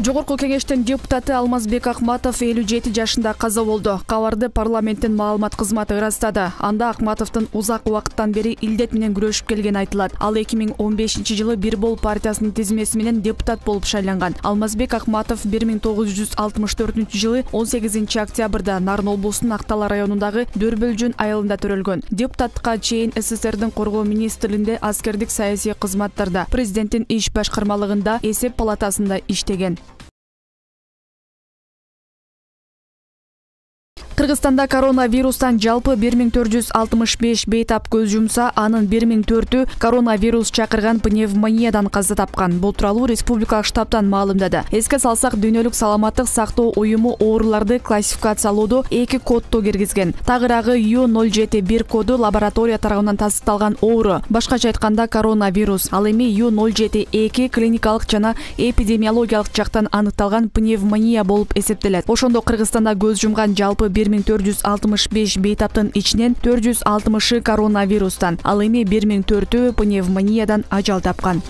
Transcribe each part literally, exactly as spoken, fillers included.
Жогорку кеңештин депутаты Алмазбек Акматов элүү жети жашында каза болду. Кабарды парламенттин маалымат кызматы ырастады. Анда Акматовдун узак убакыттан бери илдет менен күрөшүп келгени айтылат. Ал эки миң он бешинчи жылы Бир Бол партиясынын тизмеси менен депутат болуп шайланган. Алмазбек Акматов бир миң тогуз жүз алтымыш төртүнчү жылы он сегизинчи октябрда Нарын облусунун Актала районундагы Дөрбөлжүн айылында төрөлгөн. Депутатка чейин СССРдин коргоо министрлигинде аскердик саясий кызматтарда, президенттин иш башкармалыгында, эсеп палатасында иштеген. Кыргызстанда коронавирустан жалпы бир миң төрт жүз алтымыш беш бейтап көз жумса, анын бир миң төртү коронавирус чакырган пневмониядан каза тапкан. Бул тууралуу республикалык штабтан маалымдады. Эске салсак, Дүйнөлүк саламаттык сактоо уюму ооруларды классификациялоодо эки кодду киргизген. Тагыраагы Ю ноль жети бир коду лаборатория тарабынан тастыкталган оору. Башкача айтканда, коронавирус. Ал эми Ю ноль жети эки клиникалык жана эпидемиологиялык жактан аныкталган пневмония болуп эсептелет. Ошондо Кыргызстанда көз жумган жалпы бир миң төрт жүз алтымыш беш бейтаптын ичинен төрт жүз алтымышы коронавирустан, ал эми бир миң төртү пневмониядан ажал тапкан.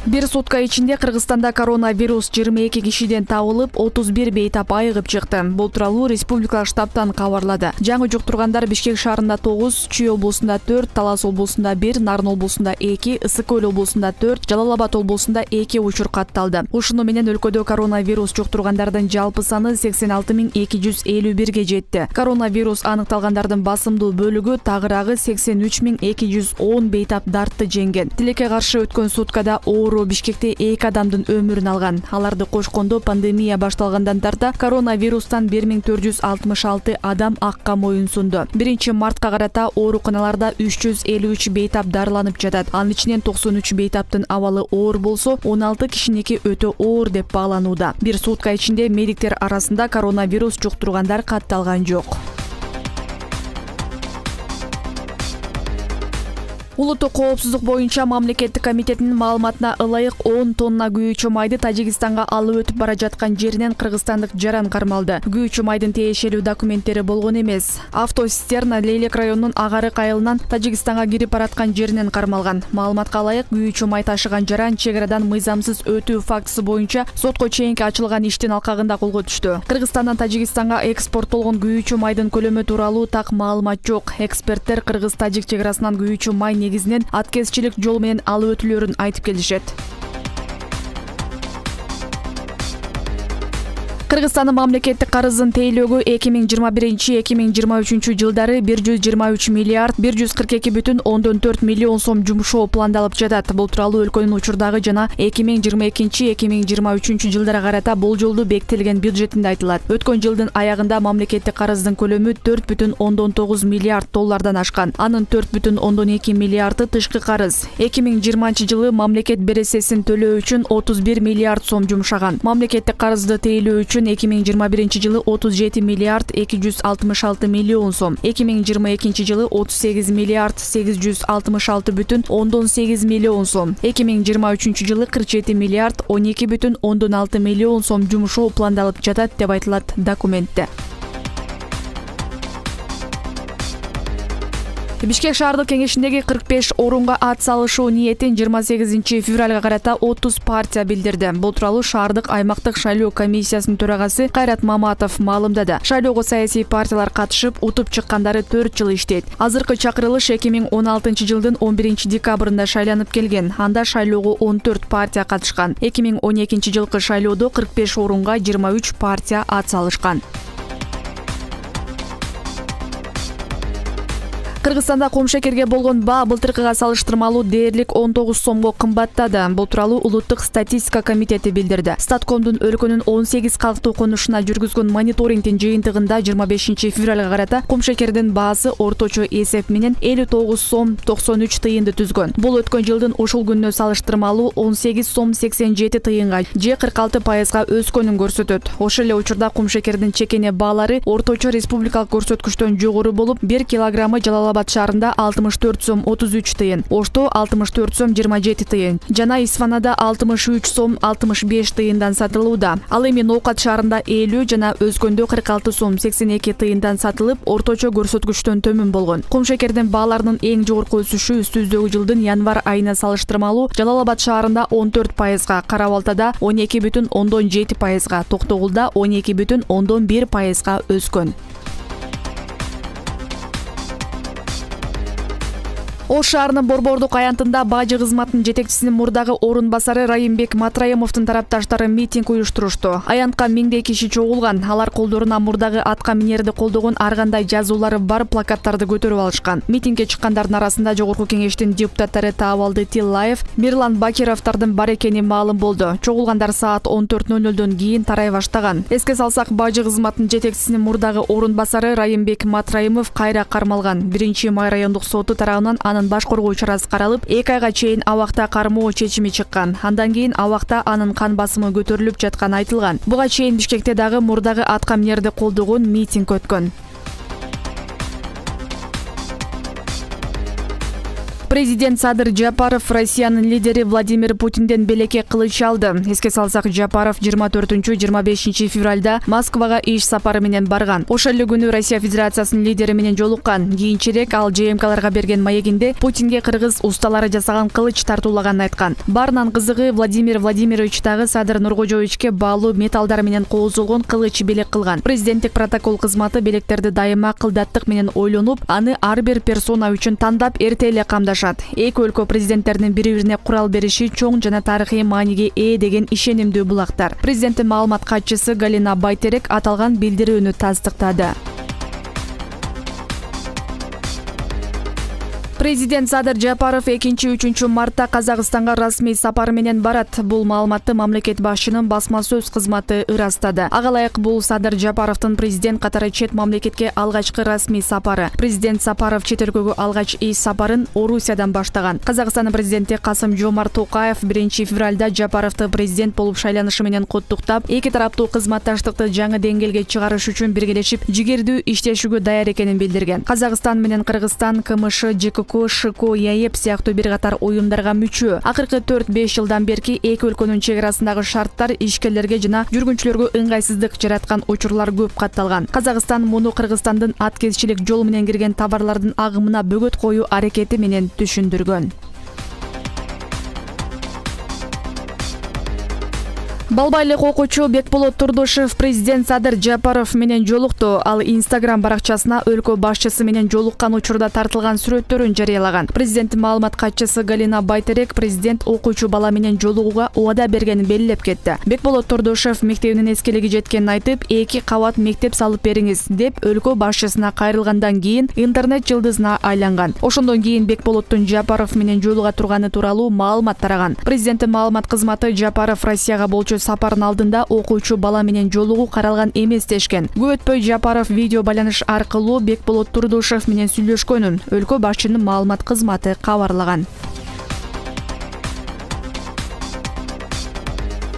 Бир сутка ичинде Кыргызстанда коронавирус жыйырма эки кишиден табылып, отуз бир бейтап айыгып чыкты. Бул тууралуу республикалык штабтан кабарлады. Жаңы жуктургандар Бишкек шаарында тогуз, Чүй облусунда төрт, Талас облусунда бир, Нарын облусунда эки, Ысык Көл облусунда төрт, Жалал Абад облусунда эки учур катталды. Ушуну менен өлкөдө коронавирус жуктургандардын жалпы саны сексен алты миң эки жүз элүү бирге жетти. Коронавирус аныкталгандардын басымдуу бөлүгү, тагыраагы сексен үч миң эки жүз он бейтап дартты жеңген. Тилекке каршы өткөн суткада оору Бишкекте эки адамдын өмүрүн алган. Аларды кошкондо пандемия башталгандан тарта коронавирустан бир миң төрт жүз алтымыш алты адам акка моюн сунду. биринчи мартка карата ооруканаларда үч жүз элүү үч бейтап дарыланып жатат. Анын ичинен токсон үч бейтаптын абалы оор болсо, он алты кишиники өтө оор деп бааланууда. Бир сутка ичинде медиктер арасында коронавирус жуктургандар катталган жок. Улуттук коопсуздук боюнча мамлекеттик комитетинин маалыматына ылайык он тонна күйүүчү майды Тажикстанга алып өтүп бара жаткан жеринен кыргызстандык жаран кармалды. Күйүүчү майдын тиешелүү документтери болгон эмес. Автосистерна Лейлек районунун Агарык айылынан Тажикстанга кирип бараткан жеринен кармалган. Маалыматка ылайык, күйүүчү май ташыган жаран чек арадан мыйзамсыз өтүү фактысы боюнча сотко чейинки ачылган иштин алкагында колго түштү. Кыргызстандан Тажикстанга экспорттолгон күйүүчү майдын көлөмү тууралуу так маалымат жок. Эксперттер Кыргыз-Тажик чек арасынан күйүүчү май негизинен аткезчилик жол менен алып өтүлөрүн айтып келишет. Кыргызстандын мамлекеттик карызын тейлөөгө эки миң жыйырма биринчи — эки миң жыйырма үчүнчү жылдары бир жүз жыйырма үч миллиард бир жүз кырк эки бүтүн ондон төрт миллион сом жумшоо пландалып жатат. Бул тууралуу өлкөнүн учурдагы жана эки миң жыйырма экинчи — эки миң жыйырма үчүнчү жылдара карата болжолдуу бекитилген бюджетинде айтылат. Өткөн жылдын аягында мамлекеттик карыздын көлөмү төрт бүтүн ондон тогуз миллиард доллардан ашкан. Анын төрт бүтүн ондон эки миллиарды тышкы карыз. эки миң жыйырманчы жылы мамлекет бересесин төлөө үчүн отуз бир миллиард сом жумшаган. Мамлекеттик карызды тейлөө үчүн эки миң жыйырма биринчи жылы отуз жети миллиард эки жүз алтымыш алты миллион сом, эки миң жыйырма экинчи жылы отуз сегиз миллиард сегиз жүз алтымыш алты бүтүн ондон сегиз миллион сом, эки миң жыйырма үчүнчү жылы кырк жети миллиард он эки бүтүн ондон алты миллион сом жумшоо пландалып жатат деп айтылат документте. Бишкек шаардык кеңешиндеги кырк беш орунга ат салышуу ниетин жыйырма сегизинчи февралга карата отуз партия билдирди. Бул тууралуу шаардык аймактык шайлоо комиссиясынын төрагасы Кайрат Маматов маалымдады. Шайлоого саясий партиялар катышып, утуп чыккандары төрт жыл иштейт. Азыркы чакырылыш эки миң он алтынчы жылдын он биринчи декабрында шайланып келген. Анда шайлоого он төрт партия катышкан. эки миң он экинчи жылкы шайлоодо кырк беш орунга жыйырма үч партия ат салышкан. Кыргызстанда комшекерге болгон баа былтыркыга салыштырмалуу дээрлик он тогуз сомго кымбаттады. Бул тууралуу Улуттук статистика комитети билдирди. Статкомдун өлкөнүн он сегиз калктуу конушуна жүргүзгөн мониторингдин жыйынтыгында жыйырма бешинчи февралга карата комшекердин баасы орточо эсеп менен элүү тогуз сом токсон үч тыйынды түзгөн. Бул өткөн жылдын ушул күнүнө салыштырмалуу он сегиз сом сексен жети тыйынга же кырк алты пайызга өскөнүн көрсөтөт. Ошол эле учурда комшекердин чекене баалары орточо республикалык көрсөткүчтөн жогору болуп, бир килограммы Жалал Жалал Абад шаарында алтымыш төрт сом отуз үч тыйын, Ошто алтымыш төрт сом жыйырма жети тыйын жана Исфанада алтымыш үч сом алтымыш беш тыйындан сатылууда. Ал эми Ноокат шаарында элүү жана Өзгөндө кырк алты сом сексен эки тыйындан сатылып, орточо көрсөткүчтөн төмөн болгон. Кумшекердин бааларынын эң жогорку өсүшү үстүбүздөгү жылдын январь айына салыштырмалуу Жалал Абад шаарында он төрт пайызга, Кара Балтада он эки бүтүн ондон жети пайызга, Токтогулда он эки бүтүн ондон бир пайызга өскөн. Ош шаарынын Борбордук аянтында бажы кызматынын жетекчисинин мурдагы орун басары Райымбек Матраимовдун тарапташтары митинг уюштурушту. Аянтка миңдей киши чогулган. Алар колдоруна мурдагы атка минерди колдогон ар кандай жазуулары бар плакаттарды көтөрүп алышкан. Митингге чыккандардын арасында Жогорку кеңештин депутаттары Таабалды Тиллаев, Мирлан Бакировдордун бар экени маалым болду. Чогулгандар саат он төрт ноль нөлдөн кийин тарай баштаган. Эске салсак, бажы кызматынын жетекчисинин мурдагы орун басары Райымбек Матраимов кайра кармалган. биринчи май райондук соту тарабынан анын баш коргоо чарасы каралып, эки айга чейин абакта кармоо чечими чыккан. Андан кийин абакта анын кан басымы көтөрүлүп жатканы айтылган. Буга чейин Бишкекте дагы мурдагы атка минерди колдогон митинг өткөн. Президент Садыр Жапаров Россиянын лидери Владимир Путинден белекке кылыч алды. Эске салсак, Жапаров жыйырма төртүнчү — жыйырма бешинчи февралда Москвага иш сапары менен барган. Ошол эле күнү Россия Федерациясынын лидери менен жолуккан. Кийинчерээк ал Ж М Кларга берген маегинде Путинге кыргыз усталары жасаган кылыч тартуулаганын айткан. Баарынан кызыгы, Владимир Владимирович дагы Садыр Нуркожоевичке баалуу металлдар менен коозулгон кылыч белек кылган. Президенттик протокол кызматы белектерди дайыма кылдаттык менен ойлонуп, аны ар бир персона үчүн тандап эрте эле камдашат. Эки өлкө президенттеринин бири-бирине курал бериши чоң жана тарыхый мааниге ээ деген ишенимдүү булактар. Президенттин маалымат катчысы Галина Байтерек аталган билдирүүнү тастыктады. Президент Садыр Жапаров экинчи — үчүнчү мартта Казакстанга расмий сапары менен барат. Бул маалыматты мамлекет башчынын басма сөз кызматы ырастады. Ага ылайык, бул Садыр Жапаровдун президент катары чет мамлекетке алгачкы расмий сапары. Президент Сапаров чет өлкөгө алгач иш сапарын Орусиядан баштаган. Казакстандын президенти Касым Жомарт Токаев биринчи февралда Жапаровду президент болуп шайланышы менен куттуктап, эки тараптуу кызматташтыкты жаңы деңгээлге чыгарыш үчүн биргелешип жигердүү иштешүүгө даяр экенин билдирген. Казакстан менен Кыргызстан К М Ш, Ж К К, ШКО, ЯЭП сыяктуу бир катар уюмдарга мүчө. Акыркы төрт беш жылдан берки эки өлкөнүн чек арасындагы шарттар ишкерлерге жана жүргүнчүлөргө ыңгайсыздык жараткан учурлар көп катталган. Казакстан муну Кыргызстандын аткезчилик жол менен кирген товарлардын агымына бөгөт коюу аракети менен түшүндүргөн. Балбайлык окуучу Бекболот Турдушев президент Садыр Жапаров менен жолукту. Ал Инстаграм баракчасына өлкө башчысы менен жолуккан учурда тартылган сүрөттөрүн жарыялаган. Президенттин маалымат катчысы Галина Байтерек президент окуучу бала менен жолугууга убада бергенин белгилеп кетти. Бекболот Турдушев мектебинин эскилиги жеткенин айтып, эки кабат мектеп салып бериңиз деп өлкө башчысына кайрылгандан кийин интернет жылдызына айланган. Ошондон кийин Бекболоттун Жапаров менен жолуга турганы тууралуу маалымат тараган. Президенттин маалымат кызматы Жапаров Россияга болчу сапардын алдында окуучу бала менен жолугуу каралган эмес дешкен. Көп өтпөй Жапаров видео байланыш аркылуу Бекболот Турдушев менен сүйлөшкөнүн өлкө башчынын маалымат кызматы кабарлаган.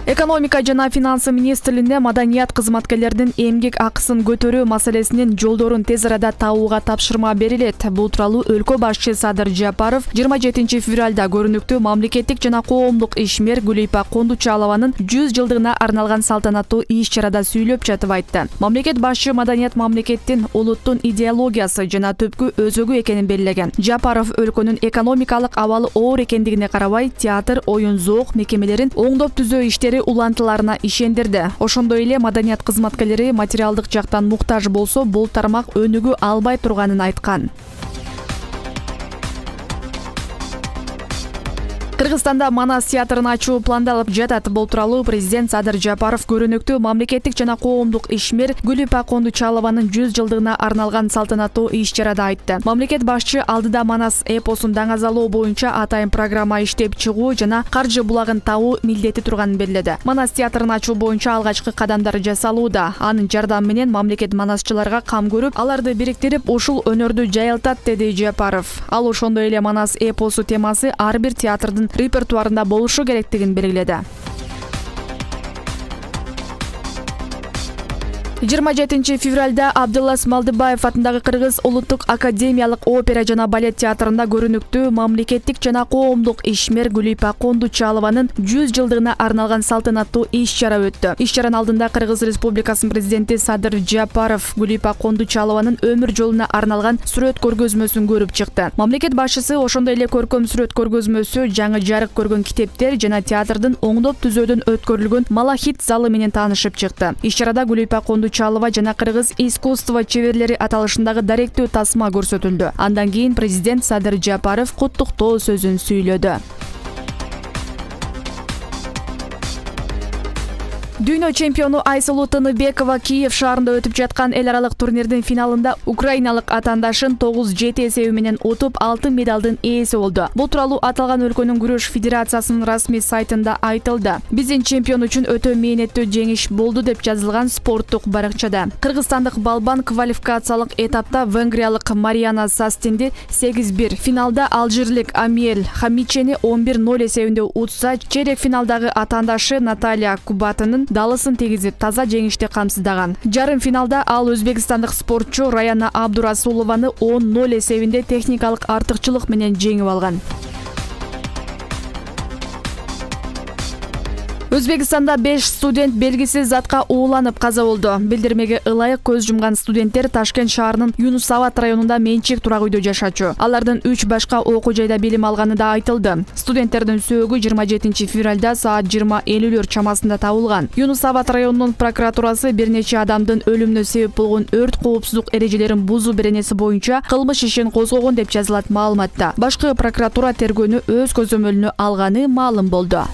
Экономика жана финансы министрлигине маданият кызматкерлеринин эмгек акысын көтөрүү маселесинин жолдорун тез арада табууга тапшырма берилет. Бул тууралуу өлкө башчы Садыр Жапаров жыйырма жетинчи февралда көрүнүктүү мамлекеттик жана коомдук ишмер Гүлипа Кондучалованын жүз жылдыгына арналган салтанаттуу иш-чарада сүйлөп жатып айтты. Мамлекет башчы маданият мамлекеттин улуттун идеологиясы жана түпкү өзөгү экенин белгилеген. Жапаров өлкөнүн экономикалык абалы оор экендигине карабай, театр, оюн зоок мекемелерин оңдоп түзөө иштери улантыларына ишендирди. Ошондой эле маданият кызматкерлери материалдык жактан муктаж болсо, бул тармак өнүгүү албай турганын айткан. Кыргызстанда Манас театрын ачуу пландалып жатат. Бул тууралуу президент Садыр Жапаров көрүнүктүү мамлекеттик жана коомдук ишмер Гүлипа Кондучалованын жүз жылдыгына арналган салтанаттуу иш-чарада айтты. Мамлекет башчы алдыда Манас эпосун даңазалоо боюнча атайын программа иштеп чыгуу жана каржы булагын табуу милдети турганын белгиледи. Манас театрын ачуу боюнча алгачкы кадамдар жасалууда. Анын жардамы менен мамлекет манасчыларга кам көрүп, аларды бириктирип, ушул өнөрдү жайылтат, деди Жапаров. Ал ошондой эле Манас эпосу темасы ар бир театрдын репертуарында болушу керектигин белгиледи. жыйырма жетинчи февралда Абдылас Малдыбаев атындагы Кыргыз улуттук академиялык опера жана балет театрында көрүнүктүү мамлекеттик жана коомдук ишмер Гүлипа Кондучалованын жүз жылдыгына арналган салтанаттуу иш-чара өттү. Иш-чаранын алдында Кыргыз Республикасынын президенти Садыр Жапаров Гүлипа Кондучалованын өмүр жолуна арналган сүрөт көргөзмөсүн көрүп чыкты. Мамлекет башчысы ошондой эле көркөм сүрөт көргөзмөсү, жаңы жарык көргөн китептер жана театрдын оңдоп түзөөдөн өткөрүлгөн Малахит залы менен таанышып чыкты. Иш-чарада Гүлипа Кондучалова жана Кыргыз искусство чеберлери аталышындагы даректүү тасма көрсөтүлдү. Андан кийин президент Садыр Жапаров куттуктоо сөзүн сүйлөдү. Дүйнө чемпиону Айсулуу Тыныбекова Киев шаарында өтүп жаткан эл аралык турнирдин финалында украиналык атаандашын тогуз жети эсеби менен утуп, алтын медалдын ээси болду. Бул тууралуу аталган өлкөнүн күрөш федерациясынын расмий сайтында айтылды. Биздин чемпион үчүн өтө мээнеттүү жеңиш болду деп жазылган спорттук баракчада. Кыргызстандык балбан квалификациялык этапта венгриялык Мариана Састинди сегиз бир, финалда алжирлик Амиел Хамичени он бир ноль эсебинде утса, чейрек финалдагы атаандашы Наталья Кубатынын далысын тийгизип таза жеңишти камсыздаган. Жарым финалда ал өзбекстандык спортчу Раяна Абдурасулованы он ноль эсебинде техникалык артыкчылык менен жеңип алган. Өзбекстанда беш студент белгисиз затка ууланып каза болду. Билдирмеге ылайык көз жумган студенттер Ташкент шаарынын Юнусабад районунда менчик турак үйдө жашачу. Алардын үч башка окуу жайда билим алганы да айтылды. Студенттердин сөөгү жыйырма жетинчи февралда саат жыйырма элүүлөр чамасында табылган. Юнусабад районунун прокуратурасы бир нече адамдын өлүмүнө себеп болгон өрт коопсуздук эрежелерин бузуу беренеси боюнча кылмыш ишин козгогон деп жазылат маалыматта. Башкы прокуратура тергөөнү өз көзөмөлүнө алганы маалым болду.